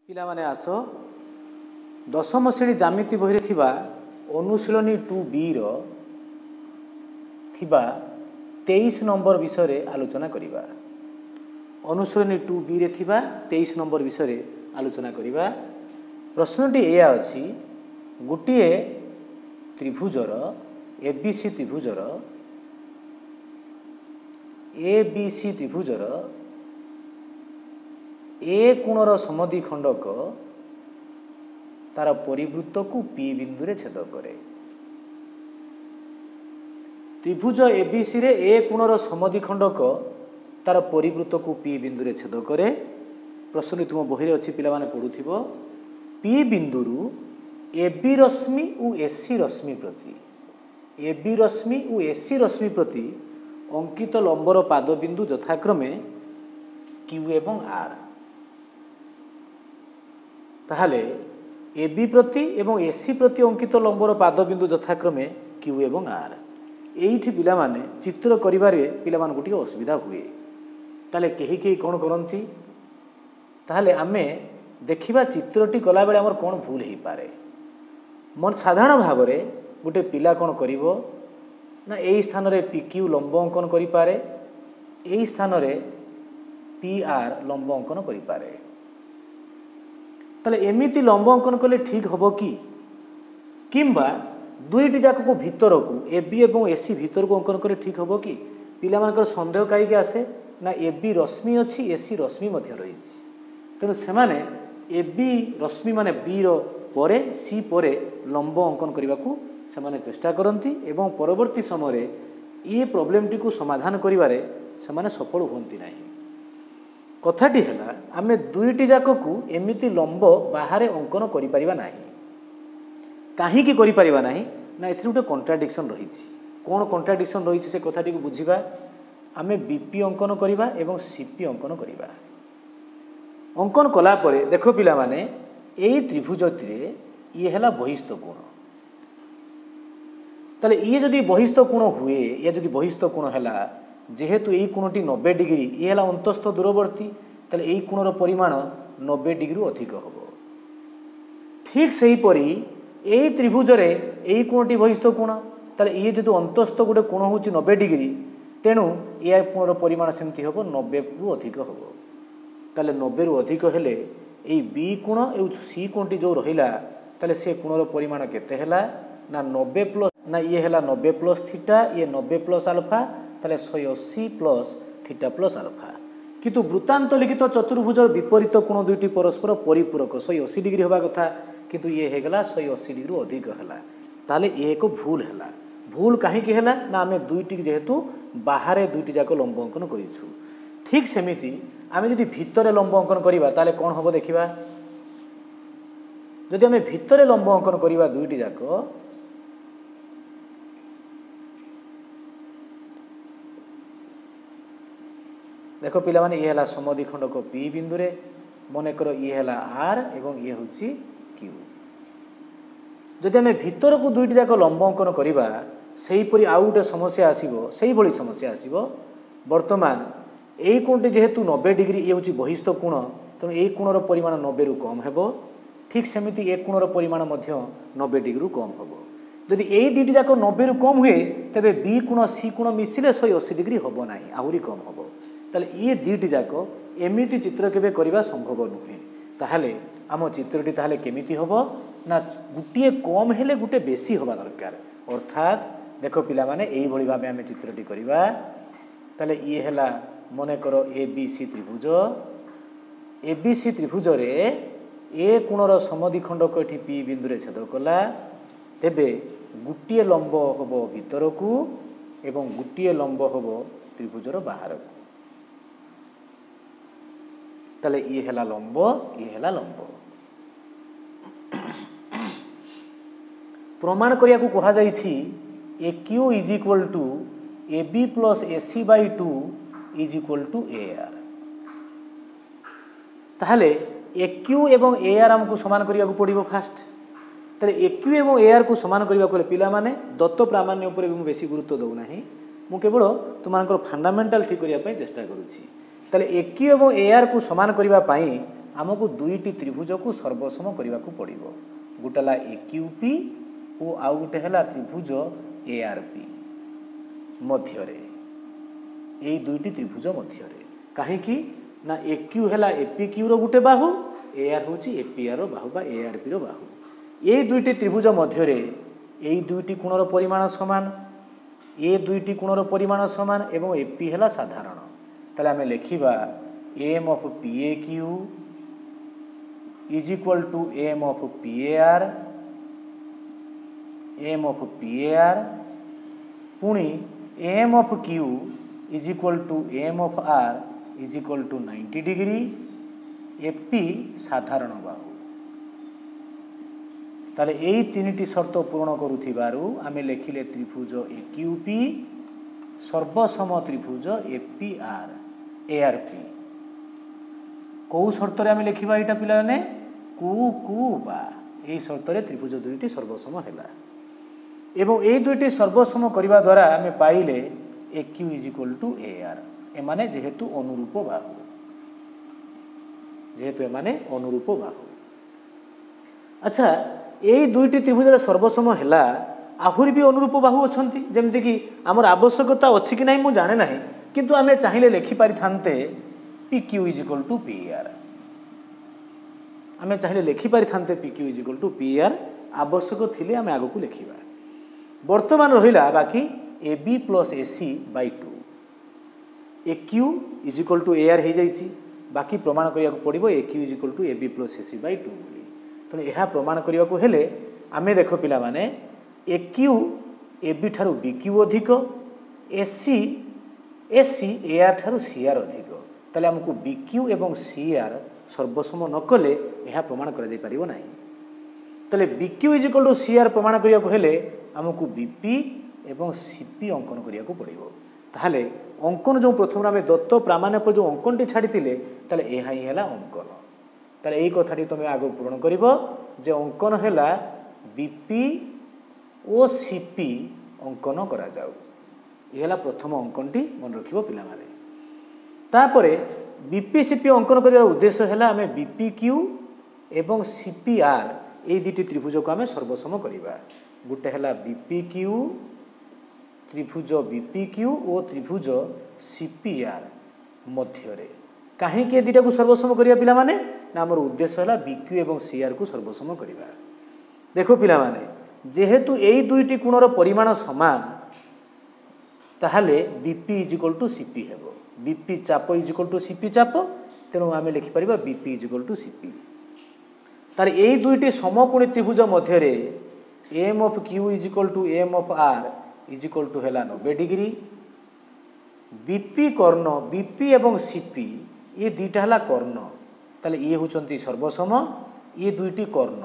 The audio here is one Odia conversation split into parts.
ପିଲାମାନେ ଆସ, ଦଶମ ଶ୍ରେଣୀ ଜ୍ୟାମିତି ବହିରେ ଥିବା ଅନୁଶୀଳନୀ 2 ବିର ଥିବା 23 ନମ୍ବର ବିଷୟରେ ଆଲୋଚନା କରିବା। ଅନୁଶୀଳନୀ 2 ବିରେ ଥିବା 23 ନମ୍ବର ବିଷୟରେ ଆଲୋଚନା କରିବା। ପ୍ରଶ୍ନଟି ଏଇଆ ଅଛି, ଗୋଟିଏ ତ୍ରିଭୁଜର, ଏ ବି ସି ତ୍ରିଭୁଜର, ଏ ବି ସି ତ୍ରିଭୁଜର ଏ କୋଣର ସମଦ୍ୱିଖଣ୍ଡକ ତାର ପରିବୃତ୍ତକୁ ପି ବିନ୍ଦୁରେ ଛେଦ କରେ। ତ୍ରିଭୁଜ ଏବିସିରେ ଏ କୋଣର ସମଦ୍ୱିଖଣ୍ଡକ ତାର ପରିବୃତ୍ତକୁ ପି ବିନ୍ଦୁରେ ଛେଦ କରେ। ପ୍ରଶ୍ନଟି ତୁମ ବହିରେ ଅଛି, ପିଲାମାନେ ପଢ଼ୁଥିବ। ପି ବିନ୍ଦୁରୁ ଏ ବି ରଶ୍ମି ଓ ଏସି ରଶ୍ମି ପ୍ରତି, ଏ ବି ରଶ୍ମି ଓ ଏସି ରଶ୍ମି ପ୍ରତି ଅଙ୍କିତ ଲମ୍ବର ପାଦବିନ୍ଦୁ ଯଥାକ୍ରମେ କ୍ୟୁ ଏବଂ ଆର୍। ତାହେଲେ ଏ ବି ପ୍ରତି ଏବଂ ଏସି ପ୍ରତି ଅଙ୍କିତ ଲମ୍ବର ପାଦବିନ୍ଦୁ ଯଥାକ୍ରମେ କ୍ୟୁ ଏବଂ ଆର୍। ଏଇଠି ପିଲାମାନେ, ଚିତ୍ର କରିବାରେ ପିଲାମାନଙ୍କୁ ଟିକେ ଅସୁବିଧା ହୁଏ। ତାହେଲେ କେହି କେହି କ'ଣ କରନ୍ତି? ତାହେଲେ ଆମେ ଦେଖିବା ଚିତ୍ରଟି କଲାବେଳେ ଆମର କ'ଣ ଭୁଲ ହେଇପାରେ। ମନ ସାଧାରଣ ଭାବରେ ଗୋଟେ ପିଲା କ'ଣ କରିବ ନା, ଏଇ ସ୍ଥାନରେ ପି କ୍ୟୁ ଲମ୍ବ ଅଙ୍କନ କରିପାରେ, ଏଇ ସ୍ଥାନରେ ପି ଆର୍ ଲମ୍ବ ଅଙ୍କନ କରିପାରେ। ତାହେଲେ ଏମିତି ଲମ୍ବ ଅଙ୍କନ କଲେ ଠିକ୍ ହେବ କି? କିମ୍ବା ଦୁଇଟି ଯାକକୁ ଭିତରକୁ, ଏ ବି ଏବଂ ଏସି ଭିତରକୁ ଅଙ୍କନ କଲେ ଠିକ୍ ହେବ କି? ପିଲାମାନଙ୍କର ସନ୍ଦେହ କାହିଁକି ଆସେ ନା, ଏ ବି ରଶ୍ମି ଅଛି, ଏସି ରଶ୍ମି ମଧ୍ୟ ରହିଛି। ତେଣୁ ସେମାନେ ଏ ବି ରଶ୍ମି ମାନେ ବିର ପରେ, ସି ପରେ ଲମ୍ବ ଅଙ୍କନ କରିବାକୁ ସେମାନେ ଚେଷ୍ଟା କରନ୍ତି ଏବଂ ପରବର୍ତ୍ତୀ ସମୟରେ ଏ ପ୍ରୋବ୍ଲେମଟିକୁ ସମାଧାନ କରିବାରେ ସେମାନେ ସଫଳ ହୁଅନ୍ତି ନାହିଁ। କଥାଟି ହେଲା, ଆମେ ଦୁଇଟି ଯାକକୁ ଏମିତି ଲମ୍ବ ବାହାରେ ଅଙ୍କନ କରିପାରିବା ନାହିଁ। କାହିଁକି କରିପାରିବା ନାହିଁ ନା, ଏଥିରେ ଗୋଟେ କଣ୍ଟ୍ରାଡିକ୍ସନ୍ ରହିଛି। କ'ଣ କଣ୍ଟ୍ରାଡିକ୍ସନ୍ ରହିଛି, ସେ କଥାଟିକୁ ବୁଝିବା। ଆମେ ବି ପି ଅଙ୍କନ କରିବା ଏବଂ ସି ପି ଅଙ୍କନ କରିବା। ଅଙ୍କନ କଲା ପରେ ଦେଖ ପିଲାମାନେ, ଏଇ ତ୍ରିଭୁଜଟିରେ ଇଏ ହେଲା ବହିସ୍ଥ କୋଣ। ତାହେଲେ ଇଏ ଯଦି ବହିସ୍ଥ କୋଣ ହୁଏ, ଇଏ ଯଦି ବହିସ୍ଥ କୋଣ ହେଲା, ଯେହେତୁ ଏଇ କୋଣଟି 90 ଡିଗ୍ରୀ, ଇଏ ହେଲା ଅନ୍ତସ୍ଥ ଦୂରବର୍ତ୍ତୀ, ତାହେଲେ ଏଇ କୋଣର ପରିମାଣ 90 ଡିଗ୍ରୀରୁ ଅଧିକ ହେବ। ଠିକ୍ ସେହିପରି ଏଇ ତ୍ରିଭୁଜରେ ଏଇ କୋଣଟି ବହିସ୍ଥ କୋଣ। ତାହେଲେ ଇଏ ଯେହେତୁ ଅନ୍ତସ୍ଥ ଗୋଟେ କୋଣ ହେଉଛି 90 ଡିଗ୍ରୀ, ତେଣୁ ଏ କୋଣର ପରିମାଣ ସେମିତି ହେବ, 90ରୁ ଅଧିକ ହେବ। ତାହେଲେ 90ରୁ ଅଧିକ ହେଲେ ଏଇ ବି କୋଣ ଏଇ ସି କୋଣଟି ଯେଉଁ ରହିଲା, ତାହେଲେ ସେ କୋଣର ପରିମାଣ କେତେ ହେଲା ନା, 90 ପ୍ଲସ୍ ନା, ଇଏ ହେଲା 90 ପ୍ଲସ୍ ଥିଟା, ଇଏ 90 ପ୍ଲସ୍ ଆଲଫା, ତାହେଲେ 180 ପ୍ଲସ୍ ଥିଟା ପ୍ଲସ୍ ଆଲଫା। କିନ୍ତୁ ବୃତ୍ତାନ୍ତ ଲିଖିତ ଚତୁର୍ଭୁଜର ବିପରୀତ କୋଣ ଦୁଇଟି ପରସ୍ପର ପରିପୂରକ, 180 ଡିଗ୍ରୀ ହେବା କଥା, କିନ୍ତୁ ଇଏ ହେଇଗଲା 180 ଡିଗ୍ରୀରୁ ଅଧିକ ହେଲା। ତାହେଲେ ଇଏ ଏକ ଭୁଲ ହେଲା। ଭୁଲ କାହିଁକି ହେଲା ନା, ଆମେ ଦୁଇଟି ଯେହେତୁ ବାହାରେ ଦୁଇଟି ଯାକ ଲମ୍ବ ଅଙ୍କନ କରିଛୁ। ଠିକ୍ ସେମିତି ଆମେ ଯଦି ଭିତରେ ଲମ୍ବ ଅଙ୍କନ କରିବା, ତାହେଲେ କ'ଣ ହେବ ଦେଖିବା। ଯଦି ଆମେ ଭିତରେ ଲମ୍ବ ଅଙ୍କନ କରିବା ଦୁଇଟି ଯାକ, ଦେଖ ପିଲାମାନେ, ଇଏ ହେଲା ସମଦ୍ୱିଖଣ୍ଡକ ପି ବିନ୍ଦୁରେ, ମନେକର ଇଏ ହେଲା ଆର୍ ଏବଂ ଇଏ ହେଉଛି କ୍ୟୁ। ଯଦି ଆମେ ଭିତରକୁ ଦୁଇଟି ଯାକ ଲମ୍ବ ଅଙ୍କନ କରିବା, ସେହିପରି ଆଉ ଗୋଟେ ସମସ୍ୟା ଆସିବ, ସେଇଭଳି ସମସ୍ୟା ଆସିବ। ବର୍ତ୍ତମାନ ଏଇ କୋଣଟି ଯେହେତୁ 90 ଡିଗ୍ରୀ, ଇଏ ହେଉଛି ବହିସ୍ଥ କୋଣ, ତେଣୁ ଏଇ କୋଣର ପରିମାଣ 90ରୁ କମ୍ ହେବ। ଠିକ୍ ସେମିତି ଏ କୋଣର ପରିମାଣ ମଧ୍ୟ 90 ଡିଗ୍ରୀରୁ କମ୍ ହେବ। ଯଦି ଏଇ ଦୁଇଟି ଯାକ 90ରୁ କମ୍ ହୁଏ, ତେବେ ବି କୋଣ ସି କୋଣ ମିଶିଲେ 180 ଡିଗ୍ରୀ ହେବ ନାହିଁ, ଆହୁରି କମ୍ ହେବ। ତାହେଲେ ଇଏ ଦୁଇଟି ଯାକ ଏମିତି ଚିତ୍ର କେବେ କରିବା ସମ୍ଭବ ନୁହେଁ। ତାହେଲେ ଆମ ଚିତ୍ରଟି ତାହେଲେ କେମିତି ହେବ ନା, ଗୋଟିଏ କମ୍ ହେଲେ ଗୋଟେ ବେଶୀ ହେବା ଦରକାର। ଅର୍ଥାତ୍ ଦେଖ ପିଲାମାନେ, ଏଇଭଳି ଭାବେ ଆମେ ଚିତ୍ରଟି କରିବା। ତାହେଲେ ଇଏ ହେଲା ମନେକର ଏ ବି ସି ତ୍ରିଭୁଜ। ଏ ବି ସି ତ୍ରିଭୁଜରେ ଏ କୋଣର ସମଦ୍ୱିଖଣ୍ଡକ ଏଠି ପି ବିନ୍ଦୁରେ ଛେଦ କଲା। ତେବେ ଗୋଟିଏ ଲମ୍ବ ହେବ ଭିତରକୁ ଏବଂ ଗୋଟିଏ ଲମ୍ବ ହେବ ତ୍ରିଭୁଜର ବାହାରକୁ। ତାହେଲେ ଇଏ ହେଲା ଲମ୍ବ, ଇଏ ହେଲା ଲମ୍ବ। ପ୍ରମାଣ କରିବାକୁ କୁହାଯାଇଛି, AQ is equal to AB plus AC by 2 is equal to AR। ତାହେଲେ ଏ କ୍ୟୁ ଏବଂ ଏ ଆର୍ ଆମକୁ ସମାନ କରିବାକୁ ପଡ଼ିବ ଫାଷ୍ଟ। ତାହେଲେ ଏ କ୍ୟୁ ଏବଂ ଏ ଆର୍କୁ ସମାନ କରିବାକୁ ହେଲେ ପିଲାମାନେ, ଦତ୍ତ ପ୍ରାମାଣ୍ୟ ଉପରେ ବି ମୁଁ ବେଶୀ ଗୁରୁତ୍ୱ ଦେଉନାହିଁ, ମୁଁ କେବଳ ତୁମମାନଙ୍କର ଫଣ୍ଡାମେଣ୍ଟାଲ ଠିକ୍ କରିବା ପାଇଁ ଚେଷ୍ଟା କରୁଛି। ତାହେଲେ ଏ କ୍ୟୁ ଏବଂ ଏ ଆର୍କୁ ସମାନ କରିବା ପାଇଁ ଆମକୁ ଦୁଇଟି ତ୍ରିଭୁଜକୁ ସର୍ବସମ କରିବାକୁ ପଡ଼ିବ। ଗୋଟେ ହେଲା ଏ କ୍ୟୁ ପି ଓ ଆଉ ଗୋଟେ ହେଲା ତ୍ରିଭୁଜ ଏ ଆର୍ ପି ମଧ୍ୟରେ, ଏଇ ଦୁଇଟି ତ୍ରିଭୁଜ ମଧ୍ୟରେ। କାହିଁକି ନା ଏ କ୍ୟୁ ହେଲା ଏ ପି କ୍ୟୁର ଗୋଟେ ବାହୁ, ଏ ଆର୍ ହେଉଛି ଏ ପି ଆର୍ ବାହୁ ବା ଏ ଆର୍ ପିର ବାହୁ। ଏଇ ଦୁଇଟି ତ୍ରିଭୁଜ ମଧ୍ୟରେ ଏଇ ଦୁଇଟି କୋଣର ପରିମାଣ ସମାନ, ଏ ଦୁଇଟି କୋଣର ପରିମାଣ ସମାନ ଏବଂ ଏ ପି ହେଲା ସାଧାରଣ। ତାହେଲେ ଆମେ ଲେଖିବା M of P A Q is equal to M of P A R, M of P A R ପୁଣି M of Q is equal to M of R is equal to 90 degree, A P ସାଧାରଣ ବାହୁ। ତାହେଲେ ଏଇ ତିନିଟି ସର୍ତ୍ତ ପୂରଣ କରୁଥିବାରୁ ଆମେ ଲେଖିଲେ ତ୍ରିଭୁଜ ଏ କ୍ୟୁ ପି ସର୍ବସମ ତ୍ରିଭୁଜ A P R A R P. କେଉଁ ସର୍ତ୍ତରେ ଆମେ ଲେଖିବା ଏଇଟା ପିଲାମାନେ? କୁ କୁ ବା। ଏଇ ସର୍ତ୍ତରେ ତ୍ରିଭୁଜ ଦୁଇଟି ସର୍ବସମ ହେଲା ଏବଂ ଏଇ ଦୁଇଟି ସର୍ବସମ କରିବା ଦ୍ୱାରା ଆମେ ପାଇଲେ A Q is equal to A R. ଏମାନେ ଯେହେତୁ ଅନୁରୂପ ବାହୁ, ଯେହେତୁ ଏମାନେ ଅନୁରୂପ ବାହୁ। ଆଚ୍ଛା, ଏଇ ଦୁଇଟି ତ୍ରିଭୁଜରେ ସର୍ବସମ ହେଲା, ଆହୁରି ବି ଅନୁରୂପ ବାହୁ ଅଛନ୍ତି। ଯେମିତିକି ଆମର ଆବଶ୍ୟକତା ଅଛି କି ନାହିଁ ମୁଁ ଜାଣେ ନାହିଁ, କିନ୍ତୁ ଆମେ ଚାହିଁଲେ ଲେଖିପାରିଥାନ୍ତେ P Q is equal to P R. ଆମେ ଚାହିଁଲେ ଲେଖିପାରିଥାନ୍ତେ P Q is equal to P R. ଆବଶ୍ୟକ ଥିଲେ ଆମେ ଆଗକୁ ଲେଖିବା। ବର୍ତ୍ତମାନ ରହିଲା ବାକି A B plus A C by two. A Q is equal to A R ହେଇଯାଇଛି, ବାକି ପ୍ରମାଣ କରିବାକୁ ପଡ଼ିବ A Q is equal to A B plus A C by two ବୋଲି। ତେଣୁ ଏହା ପ୍ରମାଣ କରିବାକୁ ହେଲେ ଆମେ ଦେଖ ପିଲାମାନେ, ଏ କ୍ୟୁ ଏ ବି ଠାରୁ ବି କ୍ୟୁ ଅଧିକ, A C A C A R ଠାରୁ ସି ଆର୍ ଅଧିକ। ତାହେଲେ ଆମକୁ ବି କ୍ୟୁ ଏବଂ ସି ଆର୍ ସର୍ବସମ ନ କଲେ ଏହା ପ୍ରମାଣ କରାଯାଇପାରିବ ନାହିଁ। ତାହେଲେ B Q is equal to C R ପ୍ରମାଣ କରିବାକୁ ହେଲେ ଆମକୁ ବି ପି ଏବଂ ସି ପି ଅଙ୍କନ କରିବାକୁ ପଡ଼ିବ। ତାହେଲେ ଅଙ୍କନ ଯେଉଁ ପ୍ରଥମରୁ ଆମେ ଦତ୍ତ ପ୍ରାମାଣ୍ୟ ପରେ ଯେଉଁ ଅଙ୍କନଟି ଛାଡ଼ିଥିଲେ, ତାହେଲେ ଏହା ହିଁ ହେଲା ଅଙ୍କନ। ତାହେଲେ ଏଇ କଥାଟି ତୁମେ ଆଗକୁ ପୂରଣ କରିବ ଯେ ଅଙ୍କନ ହେଲା B P O C P ଅଙ୍କନ କରାଯାଉ। ଏ ହେଲା ପ୍ରଥମ ଅଙ୍କନଟି, ମନେ ରଖିବ ପିଲାମାନେ। ତାପରେ ବି ପି ସି ପି ଅଙ୍କନ କରିବାର ଉଦ୍ଦେଶ୍ୟ ହେଲା ଆମେ ବି ପି କ୍ୟୁ ଏବଂ ସି ପି ଆର୍ ଏଇ ଦୁଇଟି ତ୍ରିଭୁଜକୁ ଆମେ ସର୍ବସମ କରିବା। ଗୋଟେ ହେଲା ବି ପି କ୍ୟୁ, ତ୍ରିଭୁଜ ବି ପି କ୍ୟୁ ଓ ତ୍ରିଭୁଜ ସି ପି ଆର୍ ମଧ୍ୟରେ। କାହିଁକି ଏ ଦୁଇଟାକୁ ସର୍ବସମ କରିବା ପିଲାମାନେ? ନା ଆମର ଉଦ୍ଦେଶ୍ୟ ହେଲା ବି କ୍ୟୁ ଏବଂ ସି ଆର୍କୁ ସର୍ବସମ କରିବା। ଦେଖ ପିଲାମାନେ, ଯେହେତୁ ଏଇ ଦୁଇଟି କୋଣର ପରିମାଣ ସମାନ, ତାହେଲେ B P is equal to C P ହେବ। ବି ପି ଚାପ is equal to C P ଚାପ, ତେଣୁ ଆମେ ଲେଖିପାରିବା B P is equal to C P. ତାର ଏଇ ଦୁଇଟି ସମକୋଣୀ ତ୍ରିଭୁଜ ମଧ୍ୟରେ M of Q is equal to M of R is equal to ହେଲା 90 ଡିଗ୍ରୀ। ବି ପି କର୍ଣ୍ଣ, ବି ପି ଏବଂ ସି ପି ଏ ଦୁଇଟା ହେଲା କର୍ଣ୍ଣ, ତାହେଲେ ଇଏ ହେଉଛନ୍ତି ସର୍ବସମ, ଇଏ ଦୁଇଟି କର୍ଣ୍ଣ।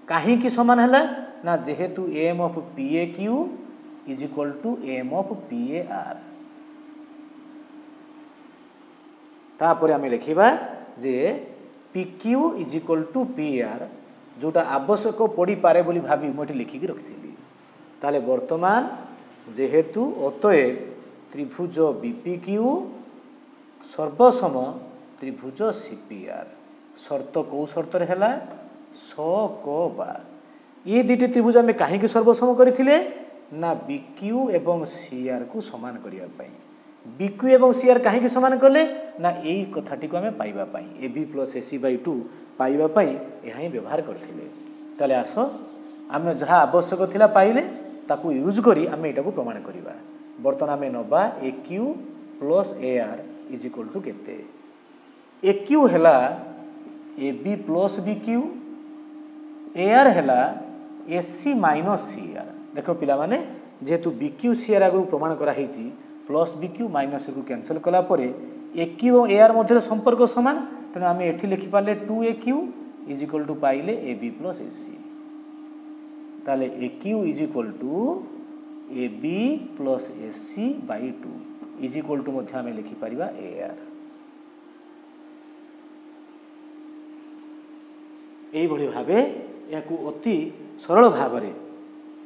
କାହିଁକି ସମାନ ହେଲା? ନା ଯେହେତୁ M of P A Q is equal to M of P A R. ତାପରେ ଆମେ ଲେଖିବା ଯେ P Q is equal to P R, ଯେଉଁଟା ଆବଶ୍ୟକ ପଡ଼ିପାରେ ବୋଲି ଭାବି ମୁଁ ଏଠି ଲେଖିକି ରଖିଥିଲି। ତାହେଲେ ବର୍ତ୍ତମାନ ଯେହେତୁ ଅତଏବ ତ୍ରିଭୁଜ ବି ପି କ୍ୟୁ ସର୍ବସମ ତ୍ରିଭୁଜ ସି ପି ଆର୍। ସର୍ତ୍ତ କେଉଁ ସର୍ତ୍ତରେ ହେଲା? ସ କ ବା। ଏ ଦୁଇଟି ତ୍ରିଭୁଜ ଆମେ କାହିଁକି ସର୍ବସମ କରିଥିଲେ? ନା ବି କ୍ୟୁ ଏବଂ ସି ଆର୍କୁ ସମାନ କରିବା ପାଇଁ। ବି କ୍ୟୁ ଏବଂ ସି ଆର୍ କାହିଁକି ସମାନ କଲେ? ନା ଏଇ କଥାଟିକୁ ଆମେ ପାଇବା ପାଇଁ, A B plus A C by two ପାଇବା ପାଇଁ ଏହା ହିଁ ବ୍ୟବହାର କରିଥିଲେ। ତାହେଲେ ଆସ ଆମେ ଯାହା ଆବଶ୍ୟକ ଥିଲା ପାଇଲେ, ତାକୁ ୟୁଜ୍ କରି ଆମେ ଏଇଟାକୁ ପ୍ରମାଣ କରିବା। ବର୍ତ୍ତମାନ ଆମେ ନେବା A Q plus A R is equal to କେତେ? ଏ କ୍ୟୁ ହେଲା A B plus B Q, A R ହେଲା A C minus C R. ଦେଖ ପିଲାମାନେ, ଯେହେତୁ ବି କ୍ୟୁ ସି ଆର୍ ଆଗରୁ ପ୍ରମାଣ କରାହେଇଛି, ପ୍ଲସ୍ ବି କ୍ୟୁ ମାଇନସ୍ କୁ କ୍ୟାନସଲ୍ କଲା ପରେ ଏ କ୍ୟୁ ଏବଂ ଏ ଆର୍ ମଧ୍ୟରେ ସମ୍ପର୍କ ସମାନ, ତେଣୁ ଆମେ ଏଠି ଲେଖିପାରିଲେ two A Q is equal to ପାଇଲେ A B plus A C. ତାହେଲେ A Q is equal to A B plus A C by two is equal to ମଧ୍ୟ ଆମେ ଲେଖିପାରିବା ଏ ଆର୍। ଏଇଭଳି ଭାବେ ଏହାକୁ ଅତି ସରଳ ଭାବରେ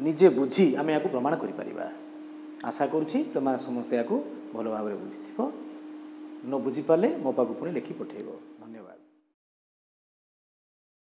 ନିଜେ ବୁଝି ଆମେ ଏହାକୁ ପ୍ରମାଣ କରିପାରିବା। ଆଶା କରୁଛି ତୁମେ ସମସ୍ତେ ଏହାକୁ ଭଲ ଭାବରେ ବୁଝିଥିବ। ନ ବୁଝିପାରିଲେ ମୋ ପାଖକୁ ପୁଣି ଲେଖି ପଠାଇବ। ଧନ୍ୟବାଦ।